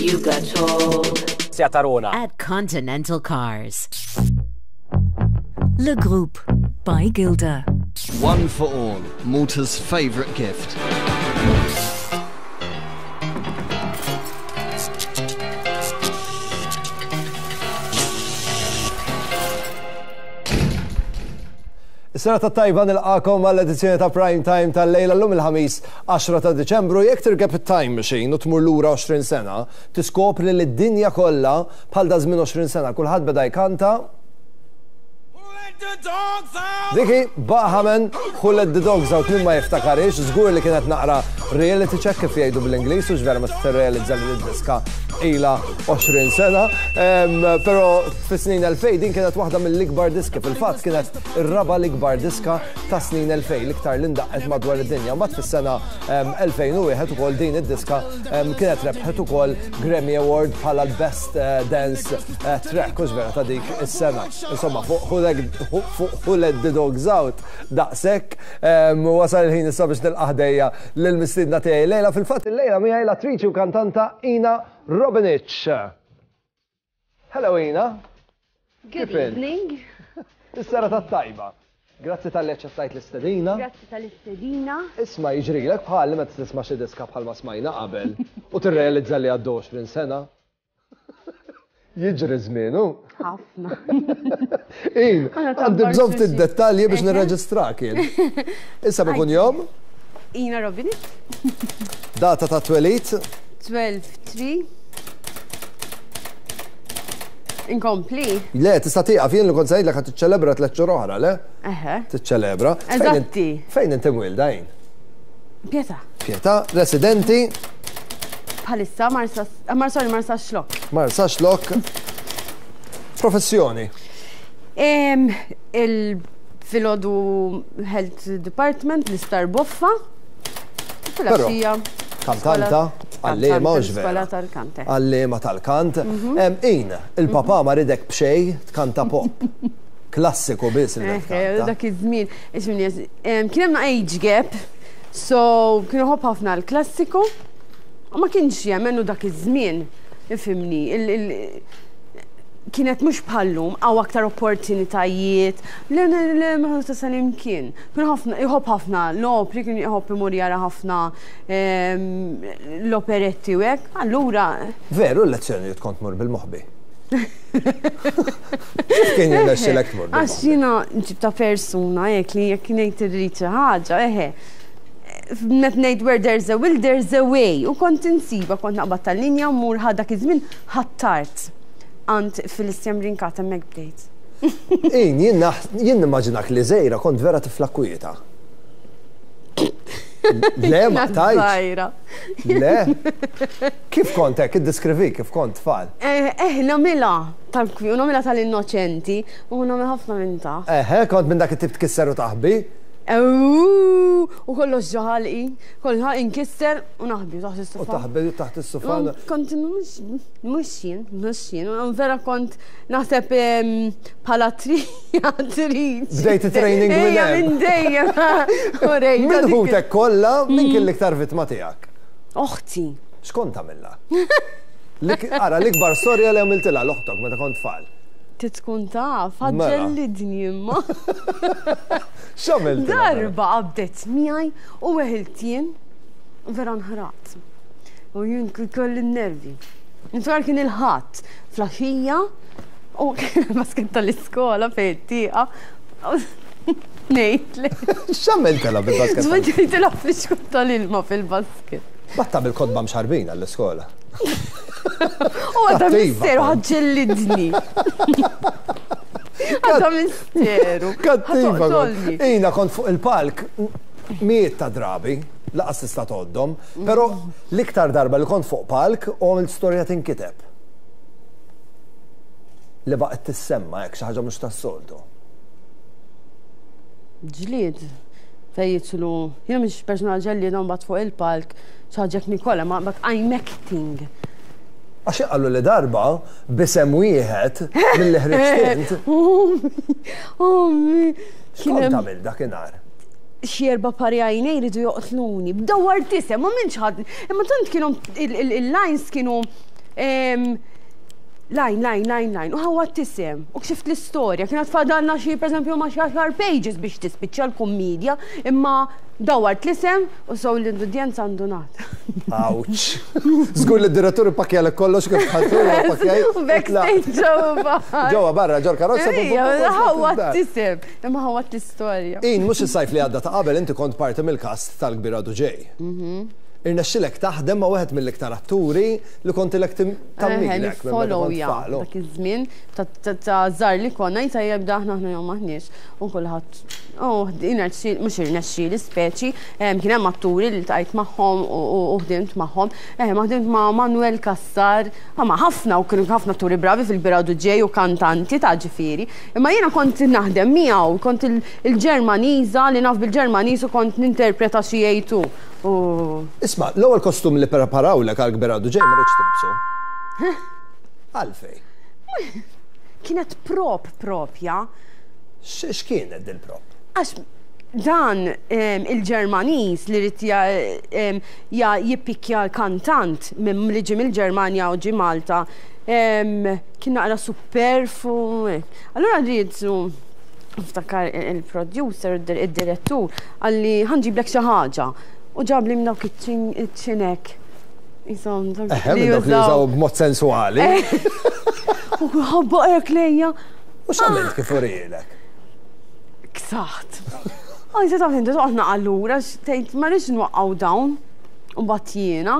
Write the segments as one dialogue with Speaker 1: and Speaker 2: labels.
Speaker 1: You got told.
Speaker 2: Seat Arona.
Speaker 1: At Continental Cars.
Speaker 3: Le Groupe by Gilda.
Speaker 4: One for all, Malta's favourite gift.
Speaker 5: Is-serata t-tajba nilqakom għall-edizzjoni ta' Prime Time tal-lejla llum il-Ħamis 10 ta' Diċembru. Jekk tirkeb it-time machine u tmur lura 20 sena, tiskopri li d-dinja kollha bħal da żmien 20 sena kulħadd beda jkanta Dik hi, Bahaman, Who Let The Dogs Out min ma jiftakarhiex, żgur li kienet naqra reality check kif jgħidu bl-Ingliż, hux vera meta tirrealizza li d-diska ilha 20 sena. Però fis-snin 2000 din kienet waħda mill-ikbar diski, fil-fatt kienet ir-raba' l-ikbar diska ta' snin 2000, l-iktar li ndaqqet madwar id-dinja. Mbagħad fis-sena 2001 ukoll din id-diska kienet rebħet ukoll Grammy Award bħala l-Best eh, Dance eh, Track, hux vera ta' dik is-sena. Insomma, fuq Who Let the Dogs Out daqshekk wasal il-ħin issa biex nilqa' ħdejja lill-mistiedna tiegħi lejla. Fil-fatt illejla miegħi l-attriċi u kantanta Ina Robinich. Hello Ina.
Speaker 6: Good evening.
Speaker 5: Is-serata t-tajba. Grazzi talli aċċettajt l-istedina.
Speaker 6: Grazzi tal-istedina.
Speaker 5: Isma' jiġrilek bħali meta tisma' xi diska bħalma smajna qabel u tirrealizza li għaddew 20 sena. Jiġri żmien, hu?
Speaker 6: Ħafna.
Speaker 5: In, għandi bżonn ftit dettalji biex nirreġistrak jien. Issa bi kunjom?
Speaker 6: Ina Robini.
Speaker 5: Data ta' twelid?
Speaker 6: 12-3. Inkompli.
Speaker 5: Le, tista' tieqaf jien li kont se ngħidlek ħa tiċċelebra tliet xhur oħra, le?
Speaker 6: Eħe.
Speaker 5: Tiċċelebra.
Speaker 6: Eżatti.
Speaker 5: Fejn inti mwilda jien?
Speaker 6: Pietà.
Speaker 5: Pietà, residenti?
Speaker 6: Bħalissa Marsa, eh, sorry, Marsa Xlok.
Speaker 5: Marsa Xlok. Professjoni?
Speaker 6: Il-filodu Health Department, l-Istar Boffa. Filgħaxija.
Speaker 5: Kantanta, għallima u
Speaker 6: Skola tal-kant. Eh.
Speaker 5: Għallima tal-kant. Mhm. In, il-papa ma ridek b'xej tkanta pop. Klassiku biss il
Speaker 6: eh, Dak iż-żmien, kien hemm age gap, so kien iħobb ħafna l-klassiku. U ma kienx jemmen u dak iż-żmien, ifhimni, kienet mhux bħal-lum, hawn aktar opportunitajiet, le le le ma tasal imkien. Kien ħafna, iħobb ħafna l-opri, kien iħobb imur jara ħafna ehm, l-operetti u hekk, allura.
Speaker 5: Veru l-lezzjonijiet kont tmur bil-moħbi. Kif kien jirnexxilek tmur bil-moħbi?
Speaker 6: Għax jiena ġib ta' persuna hekk li jekk ngħid irrid xi ħaġa, eħe. Met ngħid where there's a will there's a way u kont insiba kont naqbad tal-linja u mmur ħa dak iż-żmien ħattart għand Felicia Brincat hemmhekk bdejt.
Speaker 5: In, jien jien nimmaġinak li żgħira kont vera tifla kwieta. Le, ma tajtx. Le. Kif kont hekk, iddeskrivi kif kont tfal?
Speaker 6: Eh, eh, nagħmilha tal-kwi u nagħmilha tal-innoċenti u nagħmel ħafna minn ta'.
Speaker 5: Eħe, kont minn dak it-tip tkisser u taħbi?
Speaker 6: Eww, u kollox ġo ħalqi, kollox inkisser u naħbi taħt is-sofa.
Speaker 5: U taħbi taħt is-sofa.
Speaker 6: Kont mhux jien, mhux jien, vera kont naħseb bħala triattriċi.
Speaker 5: Bdejt it-training minn hemm.
Speaker 6: Minn dejjem.
Speaker 5: Minn ħutek kollha, min kien l-iktar vittma tiegħek?
Speaker 6: Oħti.
Speaker 5: X'kont tagħmilha? Ara, l-ikbar storja li għamiltilha l-oħtok meta kont tfal.
Speaker 6: Trid tkun taf, ħaġġellidni imma.
Speaker 5: X'għamilt?
Speaker 6: Darba qabdet miegħi u weħilt jien vera nħraqt. U jien kelli n-nervi. Niftakar kien il-Ħadd fl-għaxija u kien basket tal-iskola fejn it-tieqa. Ngħidlek.
Speaker 5: X'għamiltilha bil-basket?
Speaker 6: Żbaġġejtilha flixkun tal-ilma fil-basket.
Speaker 5: Batta bil-kotba mxarbin għall-iskola.
Speaker 6: U għadha misteru ħaġġellidni. Għadha misteru.
Speaker 5: Kattiva. Ina kont fuq il-palk miet ta' drabi, laqas tista' tgħoddhom, però l-iktar darba li kont fuq palk u għamilt storja tinkiteb. Li baqgħet tissemma hekk xi ħaġa mhux tas-soltu.
Speaker 6: Ġlied fejn jidħlu, jiena mhix persuna ġellieda mbagħad fuq il-palk xi ħaġa hekk nikola, ma but I'm acting.
Speaker 5: Għax qalu li darba b'isem wieħed milli ħriġt int.
Speaker 6: Ommi.
Speaker 5: X'kont tagħmel dakinhar?
Speaker 6: Xi erba' pari għajnej ridu joqtluni. B'dawwar tisem, ma minx ħadd. Imma tant kienu il-lines kienu. Line, line, line, line, u ħawwadt isem, u kxift l-istorja, kienet fadalna xi, per eżempju, ma xi għaxar pages biex tispiċċa l-kummedja, imma dawwart l-isem u so l-udjenza ndunat.
Speaker 5: Ouch! Żgur li d-direttur ippakkjalek kollox kif dħaltu, ippakkjaj.
Speaker 6: Backstage ġewwa barra.
Speaker 5: Ġewwa barra, ġol karozza.
Speaker 6: Ejja, ħawwadt isem, imma ħawwadt l-istorja.
Speaker 5: In, mhux is-sajf li għadda ta' qabel inti kont parti mill-cast tal-Kbir Għadu Ġej. Irnexxilek taħdem ma' wieħed mill-iktar atturi li kont ilek tammilek.
Speaker 6: Follow ja. Dak iż-żmien ta' żgħar li konna jita jibda aħna aħna jew maħniex. U kulħadd oh mhux irnexxieli speċi, kien hemm atturi li ltqajt magħhom u ħdimt magħhom. Eh, ma ħdimt ma' Manuel Cassar, ma' ħafna u kienu ħafna atturi bravi fil-Biradu Ġej u kantanti ta' ġifieri. Imma jiena kont naħdem miegħu, kont il-Ġermaniża li naf bil-Ġermaniż u kont ninterpreta xi jgħid hu. U.
Speaker 5: Isma', l-ewwel kostum li preparawlek għal Kbir Għadu Ġej ma ridtx tilbsu. Għalfejn?
Speaker 6: Kienet prop propja.
Speaker 5: X'kienet dil-prop?
Speaker 6: Għax dan il-Ġermaniż li ried jippikja l-kantant li ġie mill-Ġermanja u ġie Malta kien naqra superfu. Allura ried niftakar il-producer, id-direttur, qalli ħa nġiblek xi ħaġa. U ġabli minn dawk iċ-ċinek. Isom,
Speaker 5: dawk li jużaw b'mod sensuali.
Speaker 6: U ħabba hekk lejja.
Speaker 5: U x'għamilt kif urielek?
Speaker 6: Ksaħt. Għaj, se taf inti toqgħod allura tgħid ma rridx nwaqqgħu dawn. U mbagħad jiena.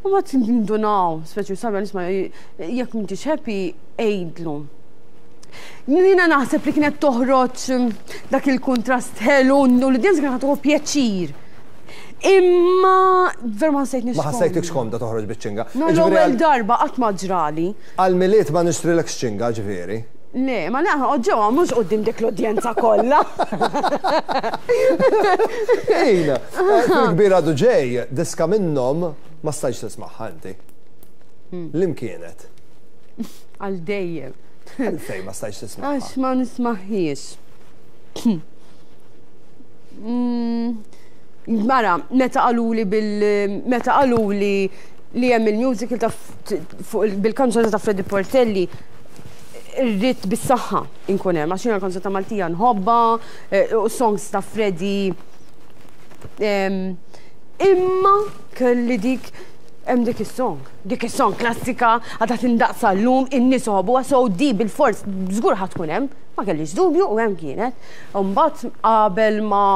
Speaker 6: U mbagħad nindunaw, speċi sabja nisma' jekk m'intix happy għidlu. Jiena naħseb li kienet toħroġ dak il-kuntrast ħelu u l-udjenza kienet ħa pjaċir. Imma ver ma ħassejtnix.
Speaker 5: Ma ħassejtikx komda toħroġ biċ-ċinga.
Speaker 6: No, l-ewwel darba qatt ma ġrali.
Speaker 5: Għal-Milied ma nixtrilekx ċinga ġifieri.
Speaker 6: Le, ma le, ġewwa mhux quddiem dik l-udjenza kollha.
Speaker 5: Ejna, fil-kbir għadu ġej, diska minnhom ma stajtx tismagħha inti. Liem kienet?
Speaker 6: Għal dejjem.
Speaker 5: Għalfejn ma stajtx tismagħha?
Speaker 6: Għax ma nismaħiex. Mara, meta qaluli bil meta qaluli li hemm il-musical ta' fuq bil-kanzunetta ta' Freddy Portelli, irrid bis-saħħa inkun hemm għax jiena l-kanzunetta Maltija nħobbha, u songs ta' Freddy. Imma kelli dik hemm dik is-song. Dik is-song klassika għadha tindaqq sal-lum, in-nies iħobbuha, so di bilfors żgur ħa tkun hemm. Ma kellix dubju u hemm kienet. U mbagħad qabel ma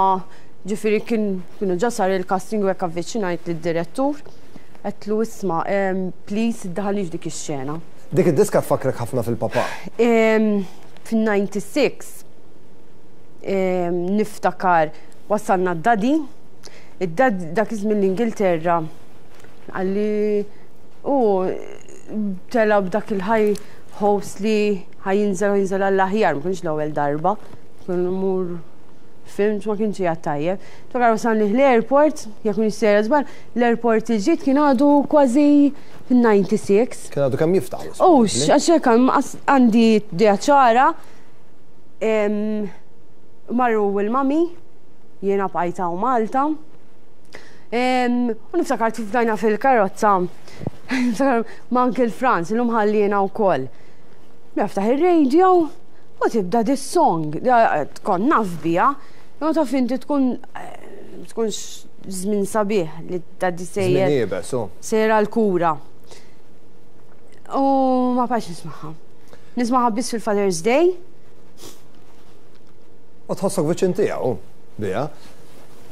Speaker 6: ġifieri kien kienu ġa sar il-casting u hekk avviċinajt lid-direttur, għedtlu isma' please iddaħħalnix f'dik ix-xena.
Speaker 5: Dik id-diska tfakkrek ħafna fil-papà.
Speaker 6: Fin-96 niftakar wassalna d-daddy, id-daddy dak iż-żmien l-Ingilterra qalli hu tela' b'dak il-high hopes li ħa jinżel ħa jinżel għall-aħjar, ma kienx l-ewwel darba, kien imur fimt ma kienx qiegħed tajjeb. Niftakar wasalni l-airport, jekk m'iniex sejra żball, l-airport il-ġdid kien għadu kważi fin-96.
Speaker 5: Kien għadu kemm jiftaħ.
Speaker 6: Hux, għax hekk għandi idea ċara. Marru l-mami, jiena bqajt hawn Malta. U niftakar kif bdajna fil-karozza, niftakar ma' Uncle Franz, illum ħalliena wkoll. Niftaħ ir-radio u tibda this song, tkun naf biha, imma taf inti tkun tkunx żmien sabiħ li tgħaddi sejjer.
Speaker 5: Żmien iebes, hu.
Speaker 6: Sejjer għall-kura. U ma bqajtx nismagħha. Nismagħha biss fil-Father's Day.
Speaker 5: U tħossok viċin tiegħu biha.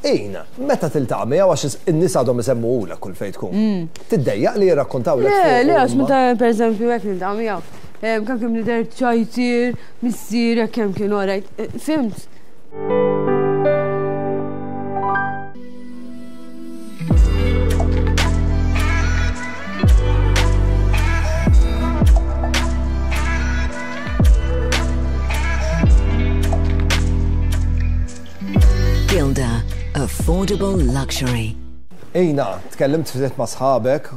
Speaker 5: Ejn, meta tiltaqa' miegħu għax in-nies għadhom isemmuhulek kull fejn tkun. Tiddejjaq li jirrakkontawlek
Speaker 6: Le,
Speaker 5: fuqu
Speaker 6: le, għax
Speaker 5: huma?
Speaker 6: meta pereżempju hekk niltaqa' miegħu, kemm kien bniedem ċajtier, missierek kemm kien orajt, fimt?
Speaker 3: Gilda, affordable luxury.
Speaker 5: Ina, tkellimt ftit ma' sħabek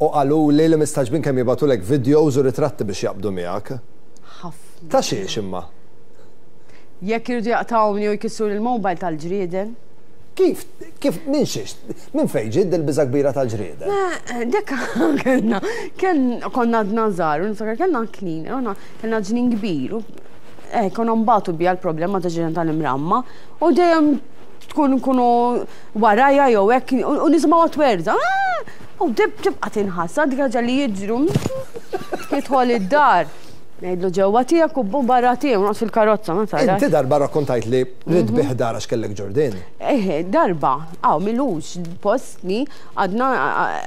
Speaker 5: u qaluli li mistagħġbin kemm jibagħtulek videos u ritratti biex jaqbdu miegħek.
Speaker 6: Ħafna.
Speaker 5: Ta' xiex imma?
Speaker 6: Jekk iridu jaqtgħuni u jkissruli l-mobile tal-ġrieden.
Speaker 5: Kif, kif, minn xiex, minn fejn ġiet dil-biża' kbira tal-ġrieden?
Speaker 6: Dik kellna, konna għadna żgħar, u niftakar kellna cleaner, kellna ġnien kbir, u konna nbatu biha l-problema ta' ġrieden tal-imramma, u dejjem tkun nkunu warajja jew hekk, u nisimgħuha twerża. U tibqa' tinħassa dik ħaġa li jiġru. Jidħol id-dar. Ngħidlu ġewwa tiegħek u barra tiegħi, noqgħod fil-karozza, ma tarax.
Speaker 5: Inti darba rrakkontajt li ridt bih dar għax kellek ġurdien.
Speaker 6: Eħe, darba, hawn m'ilux post li għadna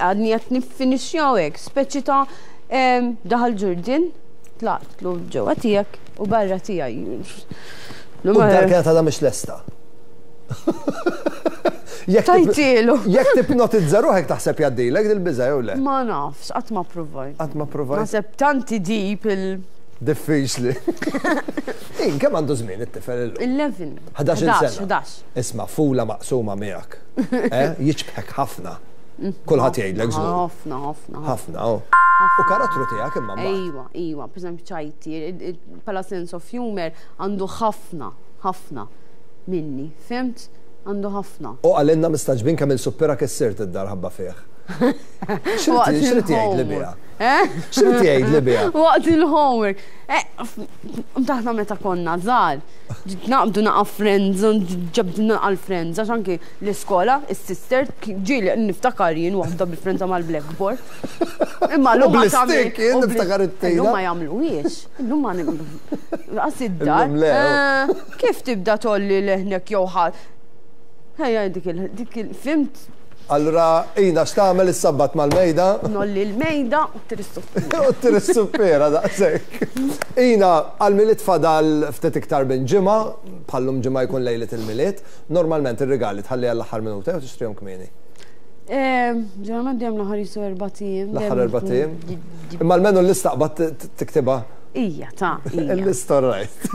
Speaker 6: għadni qed niffinixxjaw hekk, speċi ta' daħal ġurdien, tlaqtlu ġewwa tiegħek u barra tiegħi.
Speaker 5: U d-dar kienet għadha mhix lesta.
Speaker 6: Tajtielu.
Speaker 5: Jekk tipnotizza ruħek taħseb jgħaddilek dil-biża' jew le?
Speaker 6: Ma nafx, qatt ma provajt.
Speaker 5: Qatt ma provajt.
Speaker 6: Naħseb tanti deep il.
Speaker 5: Diffiċli. In kemm għandu żmien it-tifel illum?
Speaker 6: 11.
Speaker 5: 11 sena.
Speaker 6: 11.
Speaker 5: Isma' fula maqsuma miegħek. Eh? Jiġbħek ħafna. Kulħadd jgħidlek żgur.
Speaker 6: Ħafna, ħafna.
Speaker 5: Ħafna, oh. U karattru tiegħek imma mbagħad.
Speaker 6: Ejwa, ejwa, pereżempju ċajti, bħala sense of humor għandu ħafna, ħafna minni, fhimt? Għandu ħafna.
Speaker 5: U qalilna mistagħġbin kemm il-suppira kissirt id-dar ħabba fih. X'rid jgħid li biha?
Speaker 6: Eh?
Speaker 5: X'rid jgħid li biha?
Speaker 6: Waqt il-homework. Eh, taħna meta konna żgħar, naqbdu naqa' friends, ġabdu naqa' l-friends, għax anki l-iskola, is-sister, ġieli niftakar jien waħda bil-frenza mal-blackboard. Imma l-lum ma
Speaker 5: Bl-istik, jien niftakar it-tina.
Speaker 6: Illum ma jagħmluhiex. Illum ma Qas id-dar.
Speaker 5: Eh.
Speaker 6: Kif tibda tolli leħnek jew ħadd? Ejja dik il dik il fimt.
Speaker 5: Allura Ina x'tagħmel issabbat mal-mejda?
Speaker 6: Nolli l-mejda u tiri s-suppiera.
Speaker 5: U tiri s-suppiera daqshekk. Ina, għall-Milied fadal ftit iktar minn ġimgħa, bħal-lum ġimgħa jkun lejliet il-Milied. Normalment ir-rigali tħalli għall-aħħar minuta jew tixtrihom kmieni?
Speaker 6: Ġeneralment dejjem l-aħħar jisu erbat ijiem.
Speaker 5: L-aħħar erbat ijiem? Imma almenu l-lista qbad tiktibha?
Speaker 6: Ija, ta' ija.
Speaker 5: Il-lista rajt.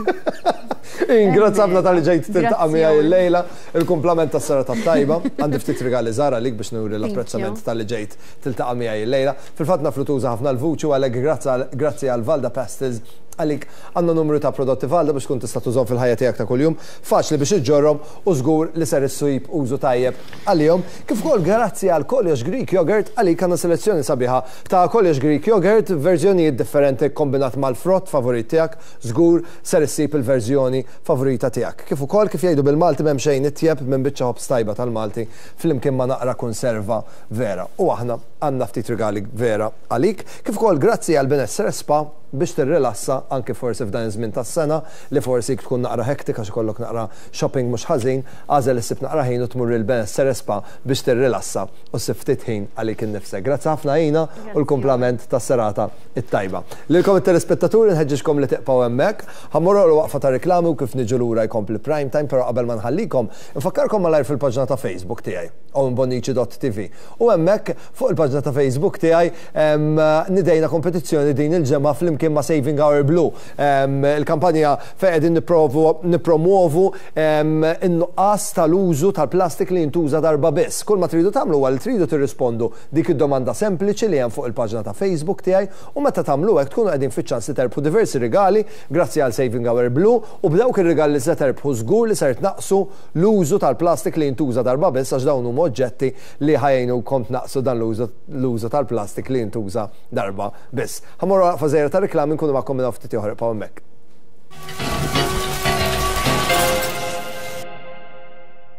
Speaker 5: Grazzi ħafna tal-li ġejt tiltaqa' miegħi illejla. Il-kumplament tas-serata t-tajba. Għandi ftit rigali żgħar għalik biex nuri l-apprezzament talli ġejt tiltaqa' miegħi illejla. Fil-fatt naf li tuża ħafna l-vuċi u għalhekk grazzi għal Valda Pastels għalik għandna numru ta' prodotti Valda biex tkun tista' tużhom fil-ħajja tiegħek ta' kuljum. Faċli biex iġġorrhom u żgur li ser issib użu tajjeb għalihom. Kif ukoll grazzi għal Koljox Greek Yogurt għalik għandna selezzjoni sabiħa ta' Koljox Greek Yogurt f'verżjonijiet differenti kkombinat mal-frott favorit tiegħek. Żgur ser issib il-verżjoni favorita tiegħek. Kif ukoll, kif jgħidu bil-Malti m'hemm xejn itjeb minn biċċa ħobż tajba tal-Malti flimkien ma' naqra kunserva vera. U aħna għandna ftit rigali vera għalik. Kif ukoll grazzi għal Benessere Spa biex tirrilassa anki forsi f'dan iż-żmien tas-sena li forsi tkun naqra hectic għax ikollok naqra shopping mhux ħażin, agħżel issib naqra ħin u tmur il-Benessere Spa biex tirrilassa u ssib ftit ħin għalik innifsek. Grazzi ħafna Ina u l-kumplament tas-serata it-tajba. Lilkom it-telespettaturi nħeġġiġkom li tiqpgħu hemmhekk. Ħa mmorru għal waqfa ta' riklami u kif niġu lura jkompli Prime Time, però qabel ma nħallikom, infakkarkom malajr fil-paġna ta' Facebook tiegħi, owenbonnici.tv. U hemmhekk fuq il-paġna ta' Facebook tiegħi nidejna kompetizzjoni din il-ġemgħa flimkien ma' Saving Our Blue. Il-kampanja fejn qegħdin nippromwovu in-nuqqas tal-użu tal-plastik li jintuża darba biss. Kull ma tridu tagħmlu huwa li tridu tirrispondu Dik id-domanda sempliċi li hemm fuq il-paġna ta' Facebook tiegħi u meta tagħmlu hekk tkunu qegħdin fiċ-ċans li terbħu diversi rigali grazzi għal Saving Our Blue u b'dawk ir-rigali li se terbħu żgur li ser tnaqqsu l-użu tal-plastik li jintuża darba biss għax dawn huma oġġetti li ħa jgħinukom tnaqqsu dan l-użu tal-plastik li jintuża darba biss. Ħa mmorru għal waqfa żgħira ta' riklami nkunu magħkom minn hawn ftit ieħor ibqgħu hemmhekk.